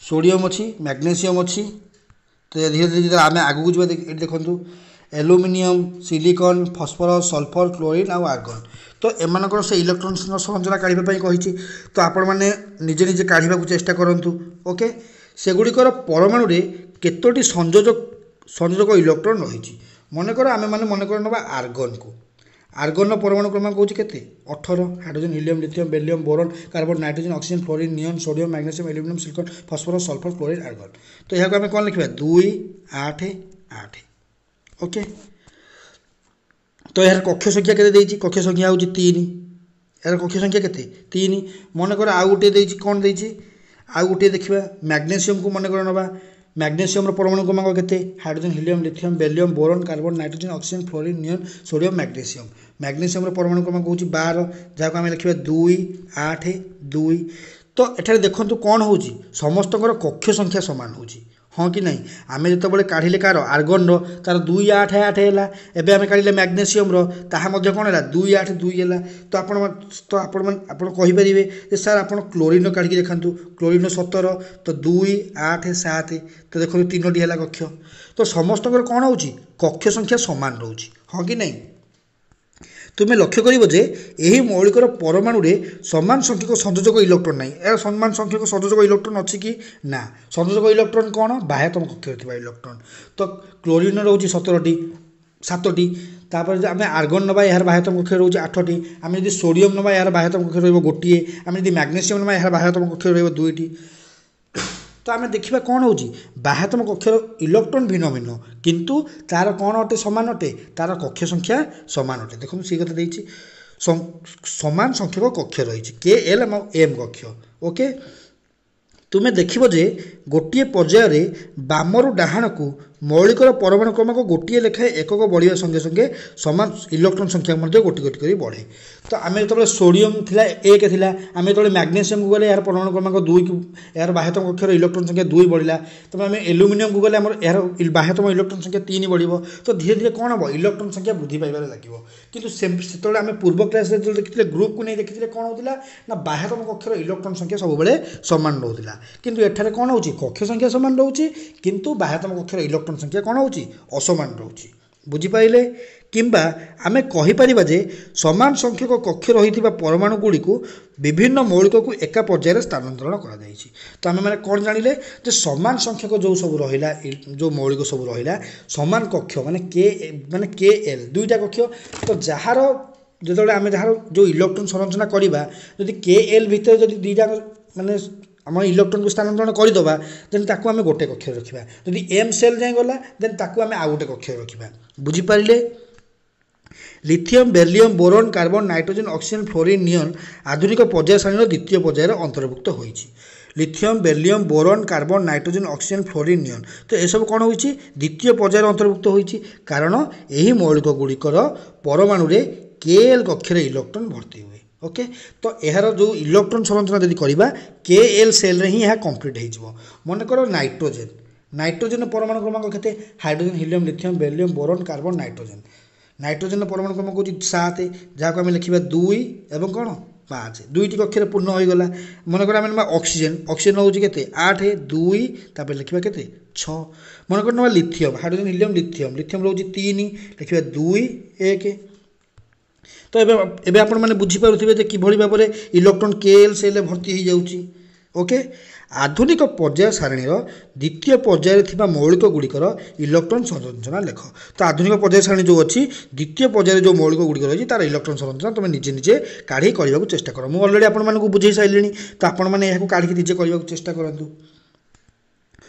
ସୋଡ଼ିୟମ୍ ଅଛି, ମ୍ୟାଗ୍ନେସିୟମ୍ ଅଛି। ତ ଧୀରେ ଧୀରେ ଯେତେବେଳେ ଆମେ ଆଗକୁ ଯିବା, ଏଠି ଦେଖନ୍ତୁ aluminium, silicon, phosphorus, sulphur, chlorine ଆଉ ଆର୍ଗନ୍। ତ ଏମାନଙ୍କର ସେ ଇଲେକ୍ଟ୍ରନ୍ ସଂରଚନା କାଢ଼ିବା ପାଇଁ କହିଛି। ତ ଆପଣମାନେ ନିଜେ ନିଜେ କାଢ଼ିବାକୁ ଚେଷ୍ଟା କରନ୍ତୁ। ଓକେ, ସେଗୁଡ଼ିକର ପରମାଣୁରେ କେତୋଟି ସଂଯୋଜକ ସଂଯୋଜକ ଇଲେକ୍ଟ୍ରନ୍ ରହିଛି? ମନେକର ଆମେମାନେ ମନେକର ନେବା ଆର୍ଗନ୍କୁ। ଆର୍ଗନର ପରମାଣୁ କ୍ରମାଙ୍କ ହେଉଛି କେତେ ଅଠର hydrogen helium lithium beryllium boron carbon nitrogen oxygen fluorine neon sodium magnesium aluminium silicon phosphorus sulphur chlorine argon ତ ଏହାକୁ ଆମେ କ'ଣ ଲେଖିବା ଦୁଇ ଆଠ ଆଠ ଓକେ ତ ଏହାର କକ୍ଷ ସଂଖ୍ୟା କେତେ ଦେଇଛି କକ୍ଷ ସଂଖ୍ୟା ହେଉଛି ତିନି ଏହାର କକ୍ଷ ସଂଖ୍ୟା କେତେ ତିନି ମନେକର ଆଉ ଗୋଟିଏ ଦେଇଛି କ'ଣ ଦେଇଛି ଆଉ ଗୋଟିଏ ଦେଖିବା ମ୍ୟାଗ୍ନେସିୟମକୁ ମନେକର ନେବା ମ୍ୟାଗ୍ନେସିୟମର ପରମାଣୁ କ୍ରମାଙ୍କ କେତେ hydrogen helium lithium beryllium boron carbon nitrogen oxygen fluorine neon sodium magnesium ମ୍ୟାଗ୍ନେସିୟମର ପରମାଣୁ କ୍ରମାଙ୍କ ହେଉଛି ବାର ଯାହାକୁ ଆମେ ଲେଖିବା ଦୁଇ ଆଠ ଦୁଇ ତ ଏଠାରେ ଦେଖନ୍ତୁ କ'ଣ ହେଉଛି ସମସ୍ତଙ୍କର କକ୍ଷ ସଂଖ୍ୟା ସମାନ ହେଉଛି ହଁ କି ନାହିଁ ଆମେ ଯେତେବେଳେ କାଢ଼ିଲେ କାହାର ଆର୍ଗନର ତାର ଦୁଇ ଆଠ ଆଠ ହେଲା ଏବେ ଆମେ କାଢ଼ିଲେ ମ୍ୟାଗ୍ନେସିୟମର ତାହା ମଧ୍ୟ କ'ଣ ହେଲା ଦୁଇ ଆଠ ଦୁଇ ହେଲା ତ ଆପଣ ତ ଆପଣମାନେ ଆପଣ କହିପାରିବେ ଯେ ସାର୍ ଆପଣ କ୍ଲୋରିନ୍ର କାଢ଼ିକି ଦେଖାନ୍ତୁ କ୍ଲୋରିନ୍ର ସତର ତ ଦୁଇ ଆଠ ସାତ ତ ଦେଖନ୍ତୁ ତିନୋଟି ହେଲା କକ୍ଷ ତ ସମସ୍ତଙ୍କର କ'ଣ ହେଉଛି କକ୍ଷ ସଂଖ୍ୟା ସମାନ ରହୁଛି ହଁ କି ନାହିଁ ତୁମେ ଲକ୍ଷ୍ୟ କରିବ ଯେ ଏହି ମୌଳିକର ପରମାଣୁରେ ସମାନ ସଂଖ୍ୟକ ସଂଯୋଜକ ଇଲେକ୍ଟ୍ରନ୍ ନାହିଁ ଏହାର ସମାନ ସଂଖ୍ୟକ ସଂଯୋଜକ ଇଲେକ୍ଟ୍ରନ୍ ଅଛି କି ନା ସଂଯୋଜକ ଇଲେକ୍ଟ୍ରନ୍ କ'ଣ ବାହ୍ୟତମ କକ୍ଷରେ ଥିବା ଇଲେକ୍ଟ୍ରନ୍ ତ କ୍ଲୋରିନ୍ର ରହୁଛି ସତରଟି ସାତଟି ତାପରେ ଯଦି ଆମେ ଆର୍ଗନ୍ ନେବା ଏହାର ବାହ୍ୟତମ କକ୍ଷରେ ରହୁଛି ଆଠଟି ଆମେ ଯଦି ସୋଡ଼ିୟମ୍ ନେବା ଏହାର ବାହ୍ୟତମ କକ୍ଷରେ ରହିବ ଗୋଟିଏ ଆମେ ଯଦି ମ୍ୟାଗ୍ନେସିୟମ୍ ନେବା ଏହାର ବାହ୍ୟତମ କକ୍ଷରେ ରହିବ ଦୁଇଟି ତ ଆମେ ଦେଖିବା କ'ଣ ହେଉଛି ବାହ୍ୟତମ କକ୍ଷର ଇଲେକ୍ଟ୍ରନ୍ ଭିନ୍ନ ଭିନ୍ନ କିନ୍ତୁ ତାର କ'ଣ ଅଟେ ସମାନ ଅଟେ ତାର କକ୍ଷ ସଂଖ୍ୟା ସମାନ ଅଟେ ଦେଖନ୍ତୁ ସେଇ କଥା ଦେଇଛି ସମାନ ସଂଖ୍ୟକ କକ୍ଷ ରହିଛି କେ ଏଲ୍ ଏବଂ ଏମ୍ କକ୍ଷ ଓକେ ତୁମେ ଦେଖିବ ଯେ ଗୋଟିଏ ପର୍ଯ୍ୟାୟରେ ବାମରୁ ଡାହାଣକୁ ମୌଳିକର ପରମାଣୁ କ୍ରମାଙ୍କ ଗୋଟିଏ ଲେଖାଏଁ ଏକକ ବଢ଼ିବା ସଙ୍ଗେ ସଙ୍ଗେ ସମାନ ଇଲେକ୍ଟ୍ରନ୍ ସଂଖ୍ୟା ମଧ୍ୟ ଗୋଟି ଗୋଟି କରି ବଢ଼େ ତ ଆମେ ଯେତେବେଳେ ସୋଡ଼ିୟମ୍ ଥିଲା ଏକ ଥିଲା ଆମେ ଯେତେବେଳେ ମ୍ୟାଗ୍ନେସିୟମକୁ ଗଲେ ଏହାର ପରମାଣୁ କ୍ରମାଙ୍କ ଦୁଇକୁ ଏହାର ବାହ୍ୟତମ କକ୍ଷର ଇଲେକ୍ଟ୍ରନ୍ ସଂଖ୍ୟା ଦୁଇ ବଢ଼ିଲା ତେବେ ଆମେ ଆଲୁମିନିୟମକୁ ଗଲେ ଆମର ଏହାର ବାହ୍ୟତମ ଇଲେକ୍ଟ୍ରନ୍ ସଂଖ୍ୟା ତିନି ବଢ଼ିବ ତ ଧୀରେ ଧୀରେ କ'ଣ ହେବ ଇଲେକ୍ଟ୍ରନ୍ ସଂଖ୍ୟା ବୃଦ୍ଧି ପାଇବାରେ ଲାଗିବ କିନ୍ତୁ ସେ ସେତେବେଳେ ଆମେ ପୂର୍ବ କ୍ଲାସ୍ରେ ଯେତେବେଳେ ଦେଖିଥିଲେ ଗ୍ରୁପକୁ ନେଇ ଦେଖିଥିଲେ କ'ଣ ହେଉଥିଲା ନା ବାହ୍ୟତମ କକ୍ଷର ଇଲେକ୍ଟ୍ରନ୍ ସଂଖ୍ୟା ସବୁବେଳେ ସମାନ ରହୁଥିଲା କିନ୍ତୁ ଏଠାରେ କ'ଣ ହେଉଛି କକ୍ଷ ସଂଖ୍ୟା ସମାନ ରହୁଛି କିନ୍ତୁ ବାହ୍ୟତମ କକ୍ଷର ଇଲେକ୍ଟ୍ରନ୍ ସଂଖ୍ୟା କ'ଣ ହେଉଛି ଅସମାନ ରହୁଛି ବୁଝିପାରିଲେ କିମ୍ବା ଆମେ କହିପାରିବା ଯେ ସମାନ ସଂଖ୍ୟକ କକ୍ଷ ରହିଥିବା ପରମାଣୁ ଗୁଡ଼ିକୁ ବିଭିନ୍ନ ମୌଳିକକୁ ଏକା ପର୍ଯ୍ୟାୟରେ ସ୍ଥାନାନ୍ତରଣ କରାଯାଇଛି ତ ଆମେମାନେ କ'ଣ ଜାଣିଲେ ଯେ ସମାନ ସଂଖ୍ୟକ ଯେଉଁ ସବୁ ରହିଲା ଯେଉଁ ମୌଳିକ ସବୁ ରହିଲା ସମାନ କକ୍ଷ ମାନେ କେ ମାନେ କେ ଏଲ୍ ଦୁଇଟା କକ୍ଷ ତ ଯାହାର ଯେତେବେଳେ ଆମେ ଯାହାର ଯେଉଁ ଇଲେକ୍ଟ୍ରନ୍ ସଂରଚନା କରିବା ଯଦି କେ ଏଲ୍ ଭିତରେ ଯଦି ଦୁଇଟା ମାନେ ଆମ ଇଲେକ୍ଟ୍ରନ୍କୁ ସ୍ଥାନାନ୍ତରଣ କରିଦେବା ଦେନ୍ ତାକୁ ଆମେ ଗୋଟେ କକ୍ଷରେ ରଖିବା ଯଦି ଏମ୍ ସେଲ୍ ଯାଏଁ ଗଲା ଦେନ୍ ତାକୁ ଆମେ ଆଉ ଗୋଟେ କକ୍ଷରେ ରଖିବା ବୁଝିପାରିଲେ lithium beryllium boron carbon nitrogen oxygen fluorine neon ଆଧୁନିକ ପର୍ଯ୍ୟାୟ ସାରଣୀର ଦ୍ୱିତୀୟ ପର୍ଯ୍ୟାୟରେ ଅନ୍ତର୍ଭୁକ୍ତ ହୋଇଛି lithium beryllium boron carbon nitrogen oxygen fluorine neon ତ ଏସବୁ କ'ଣ ହୋଇଛି ଦ୍ୱିତୀୟ ପର୍ଯ୍ୟାୟରେ ଅନ୍ତର୍ଭୁକ୍ତ ହୋଇଛି କାରଣ ଏହି ମୌଳିକ ଗୁଡ଼ିକର ପରମାଣୁରେ କେ ଏଲ୍ କକ୍ଷରେ ଇଲେକ୍ଟ୍ରନ୍ ଭର୍ତ୍ତି ହୁଏ ଓକେ ତ ଏହାର ଯେଉଁ ଇଲେକ୍ଟ୍ରନ୍ ସଂରଚନା ଯଦି କରିବା କେ ଏଲ୍ ସେଲ୍ରେ ହିଁ ଏହା କମ୍ପ୍ଲିଟ୍ ହେଇଯିବ ମନେକର ନାଇଟ୍ରୋଜେନ୍ ନାଇଟ୍ରୋଜେନ୍ ପରମାଣୁ କ୍ରମାଙ୍କ କେତେ hydrogen helium lithium beryllium boron carbon nitrogen ନାଇଟ୍ରୋଜେନ୍ର ପରମାଣୁ କ୍ରମାଙ୍କ ହେଉଛି ସାତ ଯାହାକୁ ଆମେ ଲେଖିବା ଦୁଇ ଏବଂ କ'ଣ ପାଞ୍ଚ ଦୁଇଟି କକ୍ଷରେ ପୂର୍ଣ୍ଣ ହୋଇଗଲା ମନେକର ଆମେ ନେବା ଅକ୍ସିଜେନ୍ ଅକ୍ସିଜେନ୍ ହେଉଛି କେତେ ଆଠ ଦୁଇ ତାପରେ ଲେଖିବା କେତେ ଛଅ ମନେକର ନେବା lithium hydrogen helium lithium lithium ରହୁଛି ତିନି ଲେଖିବା ଦୁଇ ଏକ ତ ଏବେ ଏବେ ଆପଣମାନେ ବୁଝିପାରୁଥିବେ ଯେ କିଭଳି ଭାବରେ ଇଲେକ୍ଟ୍ରନ୍ କେ ଏଲ୍ ସେଲ୍ରେ ଭର୍ତ୍ତି ହୋଇଯାଉଛି ଓକେ ଆଧୁନିକ ପର୍ଯ୍ୟାୟ ସାରଣୀର ଦ୍ୱିତୀୟ ପର୍ଯ୍ୟାୟରେ ଥିବା ମୌଳିକ ଗୁଡ଼ିକର ଇଲେକ୍ଟ୍ରନ୍ ସଂରଚନା ଲେଖ ତ ଆଧୁନିକ ପର୍ଯ୍ୟାୟ ସାରଣୀ ଯେଉଁ ଅଛି ଦ୍ୱିତୀୟ ପର୍ଯ୍ୟାୟରେ ଯେଉଁ ମୌଳିକ ଗୁଡ଼ିକ ରହିଛି ତାର ଇଲେକ୍ଟ୍ରନ୍ ସଂରଚନା ତୁମେ ନିଜେ ନିଜେ କାଢ଼ି କରିବାକୁ ଚେଷ୍ଟା କର ମୁଁ ଅଲରେଡ଼ି ଆପଣମାନଙ୍କୁ ବୁଝେଇ ସାରିଲିଣି ତ ଆପଣମାନେ ଏହାକୁ କାଢ଼ିକି ନିଜେ କରିବାକୁ ଚେଷ୍ଟା କରନ୍ତୁ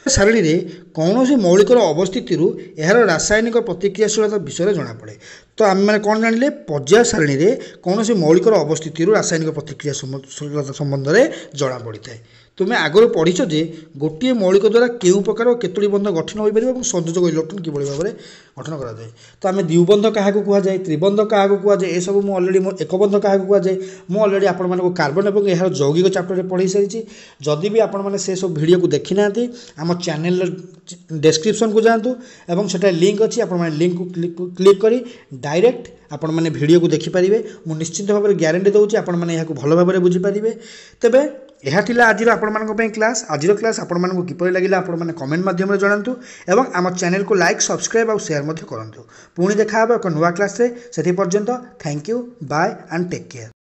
ସାରଣୀରେ କୌଣସି ମୌଳିକର ଅବସ୍ଥିତିରୁ ଏହାର ରାସାୟନିକ ପ୍ରତିକ୍ରିୟାଶୀଳତା ବିଷୟରେ ଜଣାପଡ଼େ ତ ଆମେମାନେ କ'ଣ ଜାଣିଲେ ପର୍ଯ୍ୟାୟ ସାରଣୀରେ କୌଣସି ମୌଳିକର ଅବସ୍ଥିତିରୁ ରାସାୟନିକ ପ୍ରତିକ୍ରିୟାଶୀଳତା ସମ୍ବନ୍ଧରେ ଜଣାପଡ଼ିଥାଏ ତୁମେ ଆଗରୁ ପଢ଼ିଛ ଯେ ଗୋଟିଏ ମୌଳିକ ଦ୍ୱାରା କେଉଁ ପ୍ରକାର କେତୋଟି ବନ୍ଧ ଗଠନ ହୋଇପାରିବ ଏବଂ ସଂଯୋଜକ ଇଲେକ୍ଟ୍ରନ୍ କିଭଳି ଭାବରେ ଗଠନ କରାଯାଏ ତ ଆମେ ଦ୍ୱିବନ୍ଧ କାହାକୁ କୁହାଯାଏ ତ୍ରିବନ୍ଧ କାହାକୁ କୁହାଯାଏ ଏସବୁ ମୁଁ ଅଲରେଡ଼ି ମୋ ଏକବନ୍ଧ କାହାକୁ କୁହାଯାଏ ମୁଁ ଅଲରେଡ଼ି ଆପଣମାନଙ୍କୁ କାର୍ବନ ଏବଂ ଏହାର ଯୌଗିକ ଚାପ୍ଟରରେ ପଢ଼େଇ ସାରିଛି ଯଦି ବି ଆପଣମାନେ ସେସବୁ ଭିଡ଼ିଓକୁ ଦେଖିନାହାନ୍ତି ଆମ ଚ୍ୟାନେଲର ଡେସ୍କ୍ରିପସନ୍କୁ ଯାଆନ୍ତୁ ଏବଂ ସେଠାରେ ଲିଙ୍କ୍ ଅଛି ଆପଣମାନେ ଲିଙ୍କ୍କୁ କ୍ଲିକ୍ କରି ଡାଇରେକ୍ଟ ଆପଣମାନେ ଭିଡ଼ିଓକୁ ଦେଖିପାରିବେ ମୁଁ ନିଶ୍ଚିତ ଭାବରେ ଗ୍ୟାରେଣ୍ଟି ଦେଉଛି ଆପଣମାନେ ଏହାକୁ ଭଲ ଭାବରେ ବୁଝିପାରିବେ ତେବେ ଏହା ଥିଲା ଆଜିର ଆପଣମାନଙ୍କ ପାଇଁ କ୍ଲାସ୍ ଆଜିର କ୍ଲାସ୍ ଆପଣମାନଙ୍କୁ କିପରି ଲାଗିଲା ଆପଣମାନେ କମେଣ୍ଟ ମାଧ୍ୟମରେ ଜଣାନ୍ତୁ ଏବଂ ଆମ ଚ୍ୟାନେଲକୁ ଲାଇକ୍ ସବସ୍କ୍ରାଇବ୍ ଆଉ ସେୟାର ମଧ୍ୟ କରନ୍ତୁ ପୁଣି ଦେଖା ହେବ ଏକ ନୂଆ କ୍ଲାସ୍ରେ ସେଥି ପର୍ଯ୍ୟନ୍ତ thank you bye and take care